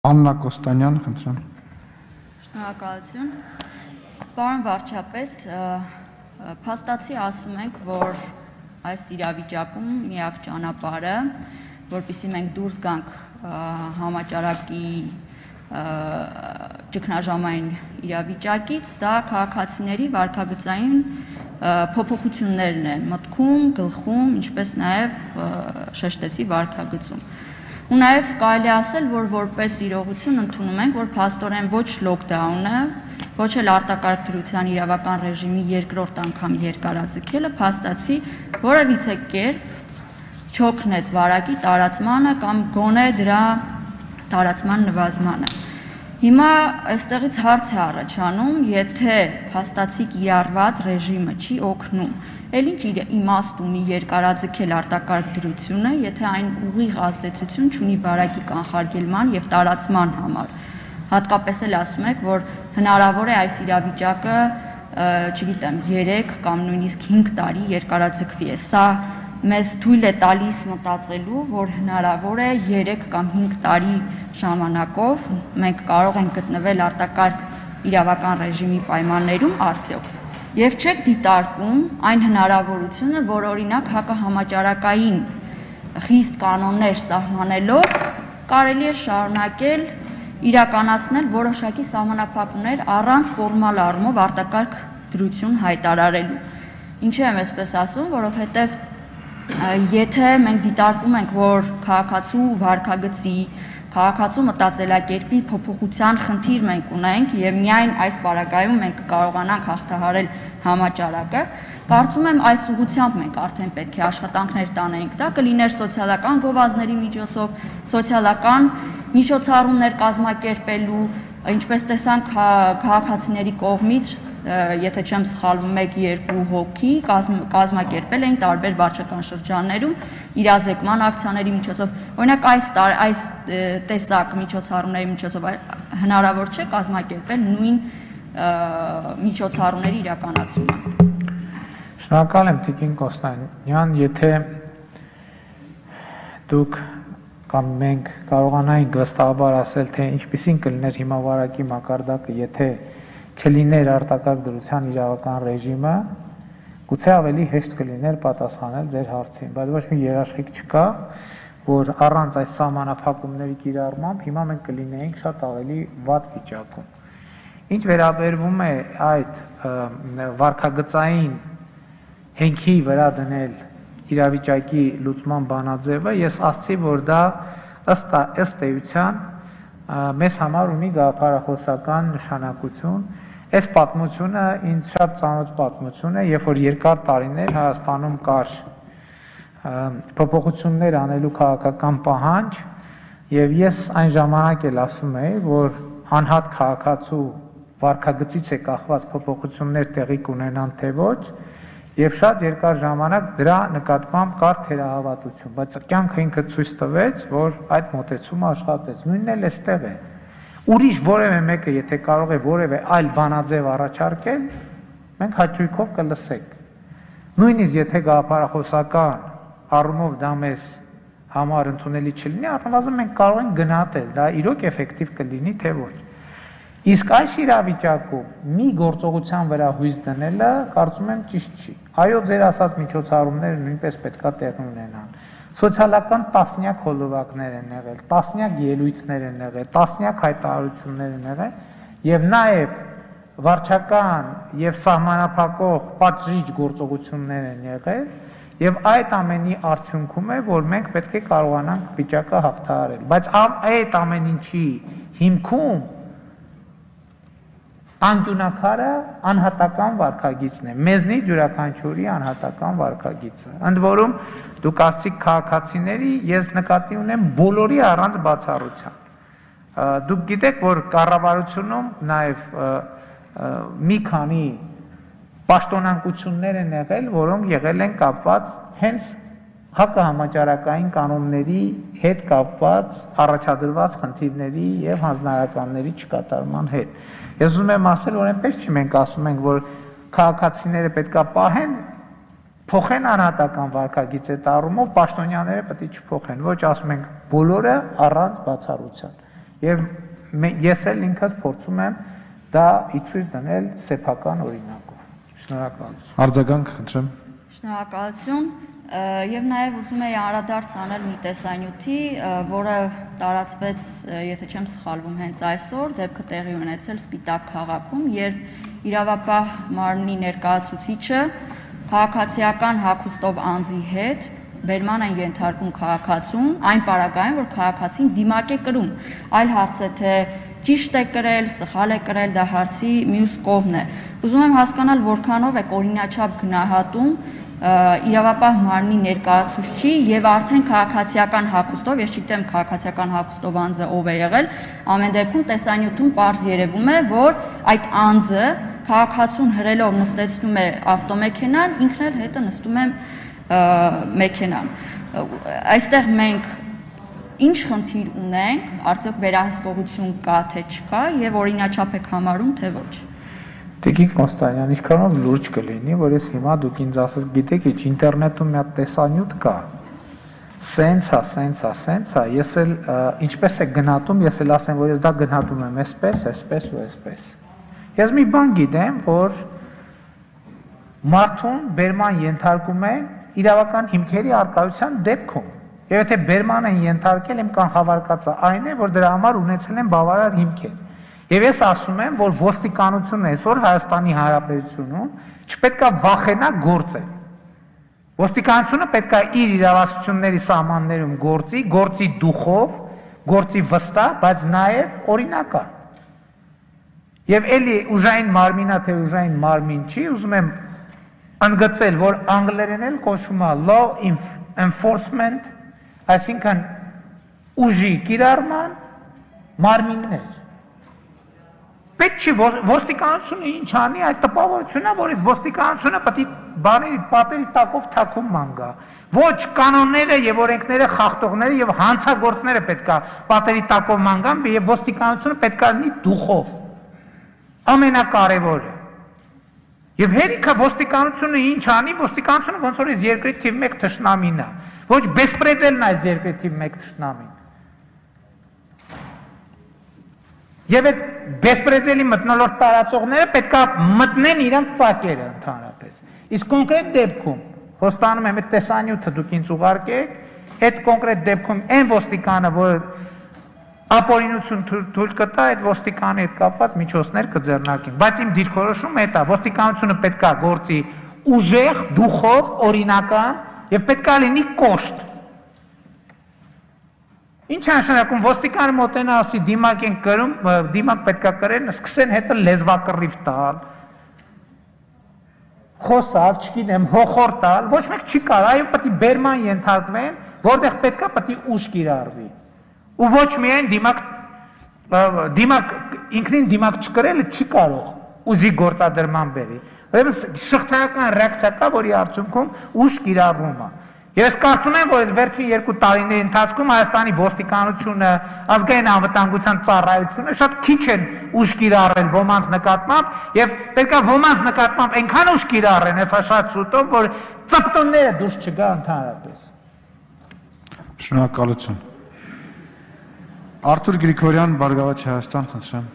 Աննա Կոստանյան, խնդրեմ։ Շնորհակալություն։ Պարոն վարչապետ, փաստացի ասում ենք, որ այս իրավիճակում միակ ճանապարհը, որպեսզի մենք դուրս գանք համաճարակի ճգնաժամային իրավիճակից, դա քաղաքացիների վարքագծային փոփոխություններն է մտքում, գլխում, ինչպես նաև շեշտեցի վարքագծում։ Ու նաև կարելի ասել, որ որպես իրողություն ընդունում ենք, որ փաստորեն ոչ լոկդաունը, ոչ էլ արտակարգ դրության իրավական ռեժիմի երկրորդ անգամ երկարաձգելը փաստացի որևիցե կերպ չօգնեց վարակի տարածմանը կամ գոնե դրա տարածման նվազմանը։ Հիմա այստեղից հարց է առաջանում, եթե փաստացի կիրառված ռեժիմը չի օգնում, էլ ինչ իմաստ ունի երկարաձգել արտակարգ դրությունը, եթե այն ուղիղ ազդեցություն չունի վարակի կանխարգելման եւ տարածման համար։ Հատկապես էլ ասում եք, որ հնարավոր է այս իրավիճակը, չգիտեմ, 3 կամ նույնիսկ 5 տարի երկարաձգվի։ Սա մեզ թույլ է տալիս մտածելու, որ հնարավոր է 3 կամ 5 տարի ժամանակով մենք կարող ենք գտնվել արտակարգ իրավական ռեժիմի պայմաններում արդյոք։ Եվ չեք դիտարկում այն հնարավորությունը, որ օրինակ հակահամաճարակային խիստ կանոններ սահմանելով կարելի է շարունակել իրականացնել որոշակի սահմանափակումներ առանց ֆորմալ առումով արտակարգ դրություն հայտարարելու։ Ինչու եմ այսպես ասում, որովհետև եթե մենք դիտարկում ենք, որ քաղաքացու վարքագծի, քաղաքացու մտածելակերպի փոփոխության խնդիր մենք ունենք եւ միայն այս պարագայում մենք կարողանանք հաղթահարել համաճարակը, կարծում եմ այս ուղղությամբ մենք արդեն պետք է աշխատանքներ տանենք, դա կլիներ սոցիալական գովազդների միջոցով, սոցիալական միջոցառումներ կազմակերպելու, ինչպես տեսանք քաղաքացիների կողմից, եթե չեմ սխալվում, 1-2 հոգի կազմակերպել էին տարբեր վարչական շրջաններում իրազեկման ակցիաների միջոցով։ Օրինակ այս տեսակ միջոցառումների միջոցով հնարավոր չէ կազմակերպել նույն միջոցառումների իրականացումը։ Շնորհակալ եմ Տիկին Կոստանյան, եթե դուք կամ մենք կարողանայինք վստահաբար ասել, թե ինչպիսին կլիներ հիմա վարակի մակարդակը, եթե չլիներ արտակարգ դրության իրավական ռեժիմը, գուցե ավելի հեշտ կլիներ պատասխանել ձեր հարցին, բայց ոչ մի երաշխիք չկա, որ առանց այս սահմանափակումների կիրառմամբ հիմա մենք կլինեինք շատ ավելի վատ վիճակում։ Ինչ վերաբերվում է այդ վարքագծային հենքի վրա դնել իրավիճակի լուծման բանաձևը, ես ասացի, որ դա ըստ էության մեզ համար ունի գաղափարախոսական նշանակություն։ Այս պատմությունը ինձ շատ ծանոթ պատմություն է, երբ որ երկար տարիներ Հայաստանում կար փոփոխություններ անելու քաղաքական պահանջ, եւ ես այն ժամանակ էլ ասում էի, որ անհատ քաղաքացու վարքագծից է կախված փոփոխություններ տեղի կունենան թե ոչ, եւ շատ երկար ժամանակ դրա նկատմամբ կար թերահավատություն, բայց կյանքը ինքը ցույց տվեց, որ այդ մոտեցումը աշխատեց։ Նույնն էլ էստեղ է։ Ուրիշ որևէ մեկը, եթե կարող է որևէ այլ բանաձև առաջարկել, մենք հաճույքով կլսենք։ Նույնիսկ եթե գաղափարախոսական առումով դա մեզ համար ընդունելի չլինի, առնվազն մենք կարող ենք գնահատել, դա իրոք էֆեկտիվ կլինի, թե ոչ։ Իսկ այս իրավիճակում մի գործողության վրա հույս դնելը, կարծում եմ, ճիշտ չի։ Այո, ձեր ասած միջոցառումները նույնպես պետքա տեղի ունենան։ Սոցիալական տասնյակ հոլովակներ են եղել, տասնյակ ելույթներ են եղել, տասնյակ հայտարարություններ են եղել, եւ նաեւ վարչական եւ սահմանափակող պատժիչ գործողություններ են եղել, եւ այդ ամենի արդյունքում է, որ մենք պետք է կարողանանք վիճակը հաղթահարել։ Բայց այդ ամեն ինչի հիմքում անկյունակարը անհատական վարքագիծն է, մեզնից յուրաքանչյուրի անհատական վարքագիծը։ Ընդ որում դուք ասացիք քաղաքացիների, ես նկատի ունեմ բոլորի առանց բացառության։ Դուք գիտեք, որ կառավարությունում նաև մի քանի պաշտոնանկություններ են եղել, որոնք եղել են կապված հենց հակահամաճարակային կանոնների հետ կապված առաջադրված խնդիրների եւ հանձնարարականների չկատարման հետ։ Ես ուզում եմ ասել, որ այնպես չի մենք ասում ենք, որ քաղաքացիները պետքա պահեն, փոխեն անհատական վարքագիծ այդ առումով, պաշտոնյաները պետք է չփոխեն։ Ոչ, ասում ենք բոլորը առանց բացառության։ Եվ ես էլ ինքս փորձում եմ դա իցույց դնել սեփական օրինակով։ Շնորհակալություն։ Արձագանք, խնդրեմ։ Շնորհակալություն։ Եվ նաև ուզում եի անդրադարձ անել մի տեսանյութի, որը տարածվեց, եթե չեմ սխալվում, հենց այսօր, դեպքը տեղի ունեցել Սպիտակ քաղաքում, երբ իրավապահ մարմնի ներկայացուցիչը քաղաքացիական հագուստով անձի հետ բերման են ենթարկում քաղաքացուն, այն պարագայում, որ քաղաքացին դիմակ է կրում, այլ հարց է, թե ճիշտ է կրել, սխալ է կրել, դա հարցի մյուս կողմն է։ Ուզում եմ հասկանալ, որքանով եք օրինաչափ գնահատում իրավապահ մարմնի ներկայացուցչի եւ արդեն քաղաքացիական հագուստով, ես չգիտեմ քաղաքացիական հագուստով անձը ով է եղել, ամեն դեպքում տեսանյութում պարզ երևում է, որ այդ անձը քաղաքացուն հրելով նստեցնում է ավտոմեքենան, ինքն էլ հետը նստում է մեքենան։ Այստեղ մենք ինչ խնդիր ունենք, արդյոք վերահսկողություն կա թե չկա եւ օրինաչափ եք համարում թե ոչ։ Տիկին Կոնստանյան, ինչքանով լուրջ կլինի, որ ես հիմա դուք ինձ ասես, գիտեք, ինչ ինտերնետում մի հատ տեսանյութ կա։ Սենց է, ես էլ ինչպես է գնահատում, ես էլ ասեմ, որ ես դա գնահատում եմ այսպես ու այսպես։ Ես մի բան գիտեմ, որ մարդուն բերման ենթարկում են իրավական հիմքերի առկայության դեպքում։ Եվ եթե բերման են ենթարկել, իմ կանխավարկածը այն է, որ դրա համար ունեցել են բավարար հիմքեր։ Եվ ես ասում եմ, որ ոստիկանությունը այսօր Հայաստանի Հանրապետությունում չպետք է վախենա գործել։ Ոստիկանությունը պետք է իր իրավասությունների սահմաններում գործի դուխով, գործի վստահ, բայց նաև օրինական։ Եվ էլի ուժային մարմինա թե ուժային մարմին չի, ուզում եմ ընդգծել, որ անգլերեն էլ կոչվում է law enforcement, այսինքն ուժի կիրառման մարմիններ։ Պետք չի ոստիկանությունը ինչ անի, այդ տպավորությունն է, որ ոստիկանությունը պետք է պատերի տակով թաքում մանգա։ Ոչ կանոնները եւ օրենքները խախտողները եւ հանցագործները պետք է պատերի տակով մանգան եւ ոստիկանությունը պետք է լինի դուխով։ Ամենակարևորը։ Եվ հերիքը ոստիկանությունը ինչ անի, ոստիկանությունը ոնց որ այս երկրի թիվ 1 թշնամին է։ Ոչ բեսպրեդելն է այս երկրի թիվ 1 թշնամին։ Եվ այդ բեսպրեդելի մթնոլորտ տարածողները պետք է մտնեն իրենց ծակերը ընդհանրապես։ Իսկ կոնկրետ դեպքում, խոստանում եմ այդ տեսանյութը դուք ինձ ուղարկեք, այդ կոնկրետ դեպքում այն ոստիկանը, որ ապօրինություն թույլ կտա, այդ ոստիկանի հետ կապված միջոցներ կձեռնարկեն։ Բայց իմ դիրքորոշումը այդ է, ոստիկանությունը պետք է գործի ուժեղ, դուխով, օրինական եւ պետք է լինի կոշտ։ Ինչ է նշանակում ոստիկանը մոտենա ասի դիմակ են կրում, դիմակ պետք է կրեն, սկսեն հետը լեզվակռիվ տալ, խոսալ, չգիտեմ, հոխոր տալ, ոչ մեկ չի կարող, այո պետք է բերման ենթարկվեն, որտեղ պետք է պետք է ուժ կիրառվի։ Ու ոչ միայն դիմակ ինքնին դիմակ չկրելը չի կարող ուժի գործադրման բերի։ Ուրեմն շղթայական ռեակցիա կա, որի արդյունքում ուժ կիրառվում է։ Ես կարծում եմ, որ այս վերջին 2 տարիների ընթացքում Հայաստանի ոստիկանությունը, ազգային անվտանգության ծառայությունը շատ քիչ են ուժ կիրառել ոմանց նկատմամբ եւ պետք է ոմանց նկատմամբ այնքան ուժ կիրառեն, հեսա շատ շուտով, որ ծպտոնները դուրս չգա ընդհանրապես։ Շնորհակալություն։ Արթուր Գրիգորյան, Բարգավաճ Հայաստան, խնդրեմ։